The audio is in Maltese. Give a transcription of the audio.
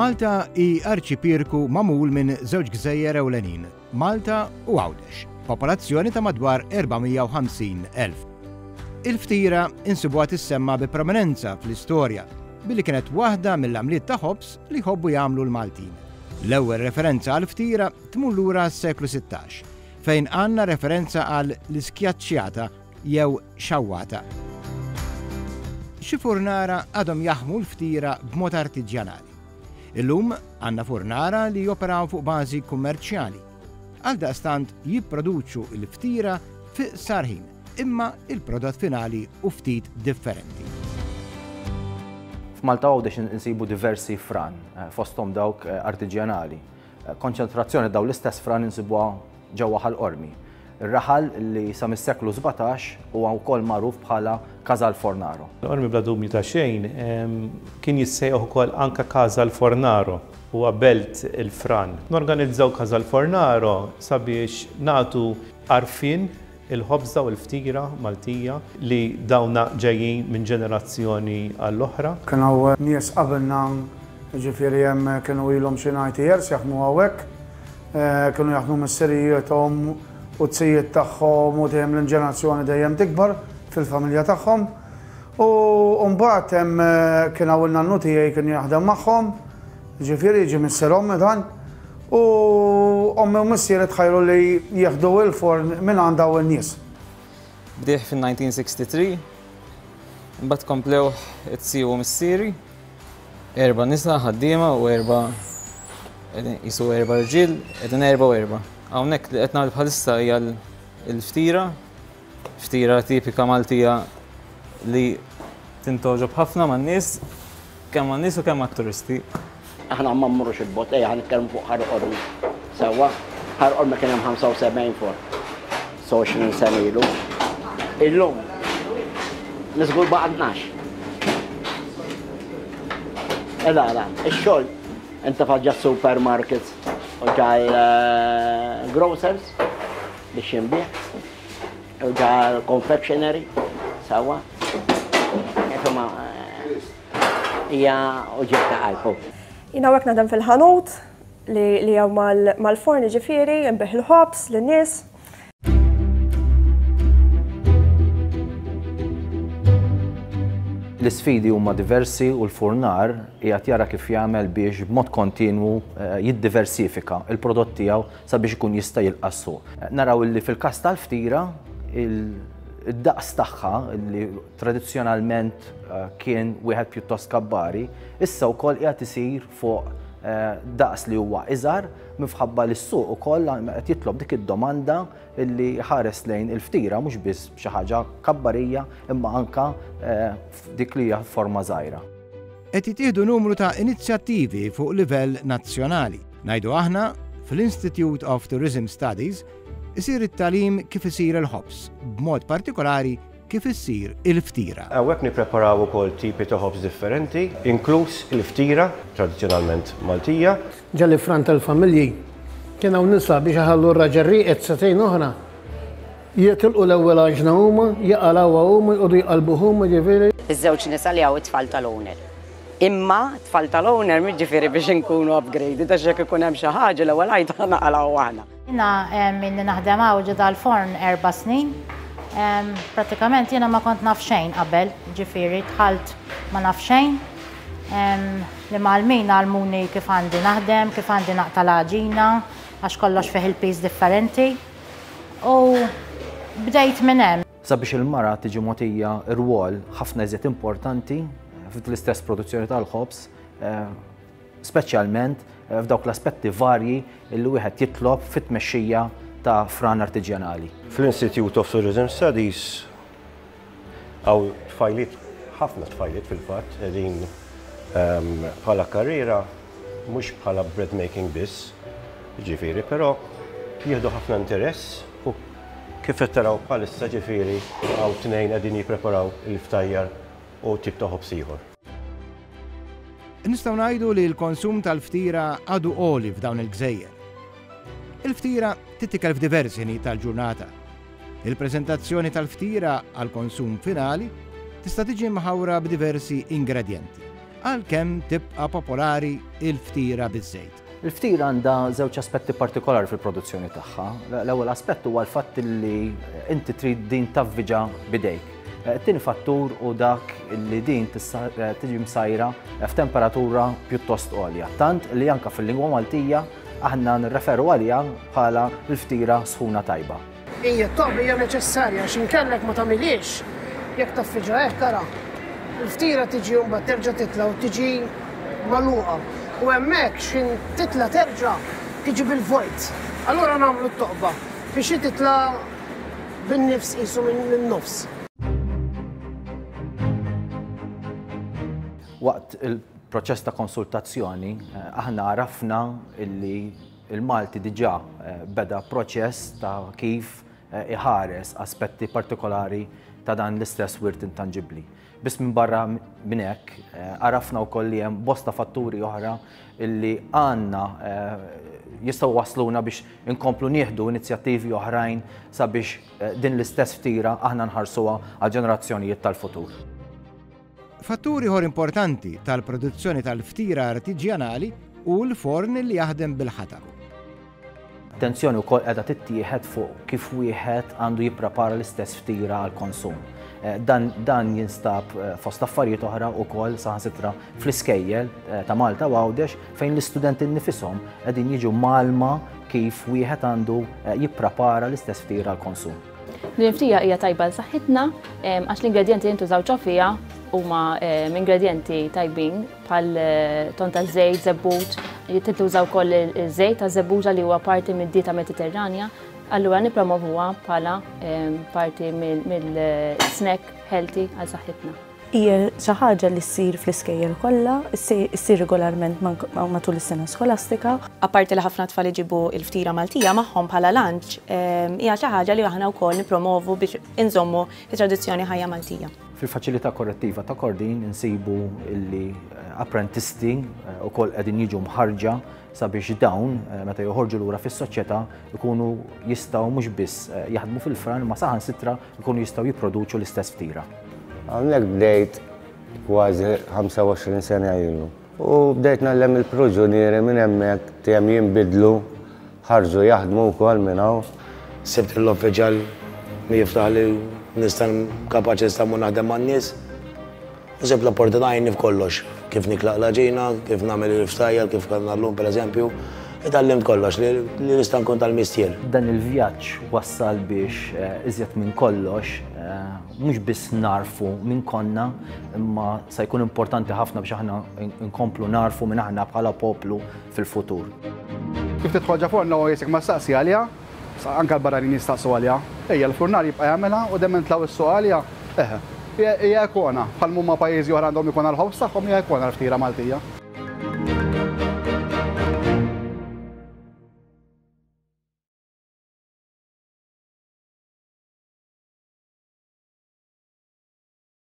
Malta hi arċipierku magħmul minn żewġ gżejjer ewlenin, Malta u Għawdex, b'popolazzjoni ta' madwar 450,000. Il-ftira insibuha tissemma bi prominenza fl-istorja billi kienet waħda mill-għamliet ta' ħobż li jħobbu jagħmlu l-Maltin. L-ewwel referenza għall-ftira tmur lura għas-seklu 16, fejn għandna referenza għal l-iskjaċċjata jew xawwata. Xi furnara għadhom jaħmu l-ftira b'mod artiġjanali. Illum għandna furnara li joperaw fuq bażi kummerċjali. Għaldaqstant jipproduċu l-ftira fi qsar ħin, imma il-prodott finali hu ftit differenti. F'Malta Għawdex insibu diversi fran, eh, fosthom dawk eh, artiġjanali. Konċentrazzjoni ta' dawn l-istess fran insibuha ġewwa Ħal Qormi, ir-raħal li sa mis-seklu 17 huwa wkoll magħruf bħala Casal Fornaro. Ħal Qormi bla dubju ta' xejn kien jissejjaħ ukoll anke Casal Fornaro, huwa belt il-fran. Norganizzaw Casal Fornaro sabiex nagħtu għarfien il-ħobża u l-ftira Maltija li dawna ġejjin minn ġenerazzjoni għall-oħra. Kien hawn nies qabilna, jiġifieri hemm kienu ilhom xi 90 years jaħdmu hawnhekk. Kienu jaħdmu missirijiethom u t-zijiet tagħhom u dejjem l-ġenerazzjoni dejjem tikbar fil-familja tagħhom. U mbagħad hemm kien hawn in-nannu tiegħi kien jaħdem magħhom, jiġifieri jiġi missier ommi dan. U ommi u missieri tħajru li jieħdu il-forn minn għand dawn in-nies. Bdieh fin-1963, imbagħad komplewh it-tsi u missieri. Erba' nisa ħaddiema u erba' qisu erba' rġiel, qegħdin erba' u erba'. Hawnhekk li qed nagħmel bħalissa hija l-ftira, ftira tipika Maltija li tintgħoġob ħafna man-nies, kemm man-nies u kemm mat-turisti. Aħna ma mmorrux 'il bogħod, ejja ħa nitkellmu fuq Ħar Qormi. Sewwa, Ħar Qormi kien hemm 75 forn 20 sena ilu. Illum niżgur baqa' 12. Ela, ela, ix-xogħol intefa' ġa supermarkets u ġa l-grocers biex jinbigħ u ġa l-confectionery, sewwa. Insomma, Hija uġigħ ta' qalb hu. Jien hawnhekk naħdem fil-ħanut li li hawn mal-forn jiġifieri, nbigħ il-ħobż lin-nies. L-isfidi huma diversi u l-furnar qiegħed jara kif jagħmel biex b'mod kontinwu jiddiversifika l-prodott tiegħu sabiex ikun jista' jilqa' s-suq. Naraw li fil-każ tal-ftira, id-daqs tagħha li tradizzjonalment kien wieħed pjuttost kabbari, issa wkoll qiegħed isir fuq daqs li huwa iżgħar minħabba li s-suq ukoll qed jitlob dik id-domanda li ħares lejn il-ftira mhux biss xi ħaġa kabbarija imma anka dik li hija forma żgħira. Qed jittieħdu numru ta' inizjattivi fuq livell nazzjonali. Ngħidu aħna, fl-Institute of Tourism Studies isir it-tagħlim kif isir il-ħobż, b'mod partikolari kif issir il-ftira. Hawnhekk nippreparaw ukoll tipi ta' ħobż differenti, inkluż il-ftira tradizzjonalment Maltija. Ġa l-ifran tal-familji kien hawn nisa biex iħallu r-raġel rieqed sagħtejn oħra. Jitilqu l-ewwel għaġna huma, jaqalgħuha huma, jqogħdu jqallbuh huma, ġifieri. Iż-żewġ nisa li hawn it-tfal tal-owner. Imma t-tfal tal-owner mhux ġifieri biex inkunu upgraded għax jekk ikun hemm xi ħaġa l-ewwel għajta naqalgħu aħna. Jiena ilni naħdem hawn ġo dal-forn erba' snin. Prattikament jiena ma kont naf xejn qabel, ġifieri dħalt ma naf xejn. L-imgħallmin għallmuni kif għandi naħdem, kif għandi naqta' l-għaġina, għax kollox fih il-piż differenti. U bdejt minn hemm. Sabiex il-mara tiġi mogħtija rwol ħafna iżjed importanti fl-istess produzzjoni tal-ħobż, speċjalment f'dawk l-aspetti varji li wieħed jitlob fit-tmexxija ta' fran artiġjanali. Fl-Institute of Tourism Studies hawn tfajliet, ħafna tfajliet fil-fatt, qegħdin bħala karriera mhux bħala bread making biss, jiġifieri, però jieħdu ħafna interess u kif qed taraw bħalissa ġifieri hawn tnejn qegħdin jippreparaw il-ftajjar u tip ta' ħobż ieħor. Nistgħu ngħidu li l-konsum tal-ftira għadu għoli f'dawn il-gżejjer. Il-ftira tittikel f'diversi ħinijiet tal-ġurnata. Il-preżentazzjoni tal-ftira għall-konsum finali tista' tiġi mħawra b'diversi ingredjenti. Għalkemm tibqa' popolari l-ftira biż-żejt. Il-ftira għandha żewġ aspetti partikolari fil-produzzjoni tagħha. L-ewwel aspett huwa l-fatt li inti trid din tavviġa bidejk. It-tieni fattur hu dak li din tiġi msajra f'temperatura pjuttost għolja, tant li anke fil-lingwa Maltija aħna nirreferu għaliha bħala l-ftira sħuna tajba. Hija t-toqba hija neċessarja għax inkella jekk ma tagħmilhiex, jekk taffiġha hekk ara, il-ftira tiġi u mbagħad terġa' titla' u tiġi magħluqa. U hemmhekk x'ħin titla' terġa' tiġi bil-vojt. Allura nagħmlu t-toqba biex hi titla' bin-nifs qisu min-nofs. Waqt il-proċess ta' konsultazzjoni aħna għarafna illi Il-Malti diġà beda proċess ta' kif iħares aspetti partikolari ta' dan l-istess wirt intanġibbli. Biss minbarra minn hekk, għarafna wkoll li hemm bosta fatturi oħra li għandna jistgħu wasluna biex inkomplu nieħdu inizjattivi oħrajn sabiex din l-istess ftira aħna nħarsuha għall-ġenerazzjonijiet tal-futur. Fattur ieħor importanti tal-produzzjoni tal-ftira artiġjanali hu l-forn li jaħdem bil-ħatab. Attenzjoni wkoll qiegħda tittieħed fuq kif wieħed għandu jipprepara l-istess ftira għall-konsum. Eh, dan, dan jinstab eh, fost affarijiet oħra wkoll saħansitra fl-iskejjel eh, ta' Malta u Għawdex fejn l-istudenti nnifisom qegħdin jiġu malma kif wieħed għandu jipprepara l-istess ftira għall-konsum. Din il-ftija hija tajba għal saħħitna għax l-ingredjenti li jintużaw ġo fiha huma ingredjenti tajbin bħal eh, ton ta' żejt, żebbuġ, tintuża wkoll iż-żejt ta' żebbuġa li huwa parti mid-dieta Mediterranja, allura nippromovuha bħala parti mill-snack healthy għal saħħitna. Hija xi ħaġa li ssir fl-iskejjel kollha, issir regolarment matul is-sena skolastika. Apparti li ħafna tfal iġibu l-ftira Maltija magħhom bħala lunch, hija xi ħaġa li aħna wkoll nippromovu biex inżommu t-tradizzjoni ħajja Maltija. Fil-Faċilità Korrettiva ta' Kordin insibu li apprentisti wkoll qegħdin jiġu mħarrġa sabiex dawn meta joħorġu lura fis-soċjetà jkunu jistgħu mhux biss jaħdmu fil-fran imma saħansitra jkunu jistgħu jipproduċu l-istess ftira. Hawnhekk bdejt kważi 25 sena ilu. U bdejt ngħallem il-proġunieri minn hemmhekk dejjem jinbidlu, ħarġu jaħdmu wkoll minn hawn. Sibt l-uffiċjal li jiftaħ li nista' kapaċi nista' mmur naħdem man-nies. U sibt l-opportunità jgħinni f'kollox, kif niklaq l-għaġina, kif nagħmel il-ftajjar, kif kellna llum pereżempju. Itgħallimt kollox li nista' nkun tal-mistier. Dan il-vjaġġ wassal biex iżjed minn kollox mhux biss nagħrfu min konna, imma se jkun importanti ħafna biex aħna nkomplu nagħrfu min aħna bħala poplu fil-futur. Kif tidħol ġa forn l-ewwel jisek ma staqsi għaliha, Anke l-barranin jistaqsu għaliha. Ejja, l-furnar jibqa' jagħmilha u dejjem nitlgħu s-suq għaliha. Eħe. Hija ikona. Bħal m'huma pajjiżi oħra għandhom ikona l-ħobż tagħhom, hija ikona l-ftira Maltija.